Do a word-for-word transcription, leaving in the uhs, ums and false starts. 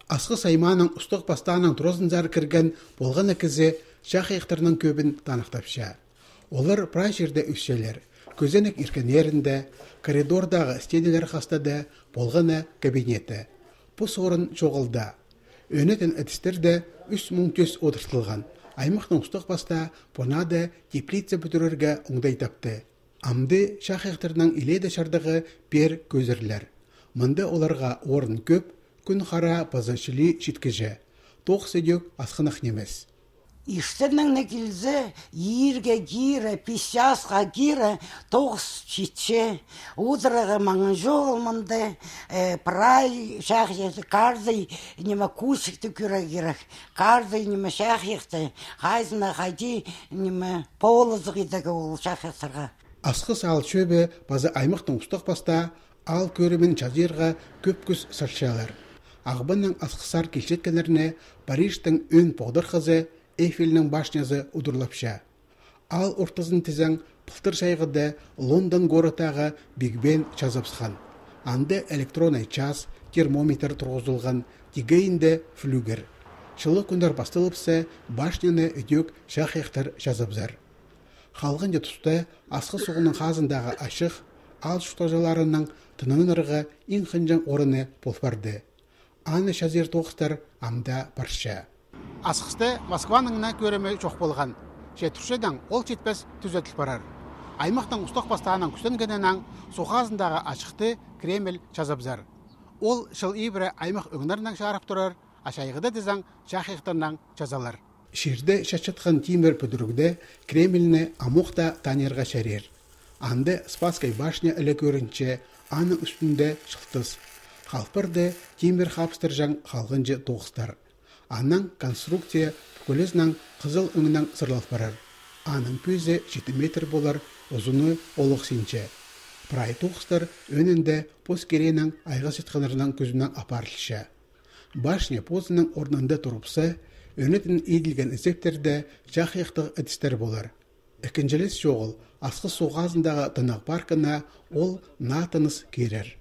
Асқы сайманың ұстық бастағының тұрозынзар кірген болған әкізі шақ ектірінің көбін танықтапша. Олар прай жерде үсселер, көзенек иркенерінде, коридордағы стенелер қастады болғаны кабинеті. Бұс орын жоғылда. Өнетін әдістерді үш мың төс отыртылған. Аймақтың ұстық баста понады теплица бүтірерге оңдай тапты. Амды шақ ектірінің иледі шардығы бер көзірлер. Мұнда оларға орын көп, күн қара пазашылы жеткіже. Тоқ сөдек асқынық немес. İşlerden ne gilse, yirge gire, pişasqa gire, toğız çitçe, udrağı manjı olmandı, pray şahiyeti, kardı nime kusikti küre girek, kardı nime şahiyeti, hayzına haydi nime poğuluzығыдығы ол şahiyetарға. Асқы сал шөбі базы аймақтың ұстық баста, ал көрімен жазырға көп күз саршалар. Ағбанның асқысар келшеткелеріне Парижтің өн поғдыр қызы Эйфелінің башнясы удырлапша. Ал ортызын тізен пылтыр шайғыды Лондон горытағы Биг Бен жазапсыған. Анды электронай час, термометр тұрғызылған, тегейінде флюгер. Шылы күндер бастылыпсы башняны үдек шақ-ектір жазапзар. Халғын тұсты асқы соғының қазындағы ашық, ал шұқтажаларының тынының ырғы ең қынжан орыны болпарды. Аны шазер тоқыстар амда барша. Асқысты Москваныңына көрімі жоқ болған. Жетіршеден ол жетпес түзетіл барар. Аймақтың ұстық бастағынан күстенгенінен соғазындағы ашықты Кремль жазабзар. Ол шыл ибірі аймақ өңнерінен шарып тұрар, ашайғыда дезен шақиқтарынан жазалар. Шерді шачытқан Тимир пөдірігді Кремльні амуқта танерға шәрер. Анды Спасскай башня әлі көрінче аның үстінде шылтыз. Қалпырды Тимир хапстыржан қалғынжы тоғыстар. Анның конструкция көлезнің қызыл өңінен сырлалып барар. Аның пөзі жеті метр болар, ұзыны олық сенче. Прай тоғыстар өнінде поскеренің айға сетқанырынан көзінен апарылшы. Башня позының орнында тұрыпсы, өнетін еділген ізептерді жақиқтық әдістер болар. Әкінжелес жоғыл, асқы соғазындағы тынақ паркына ол натыныз керер.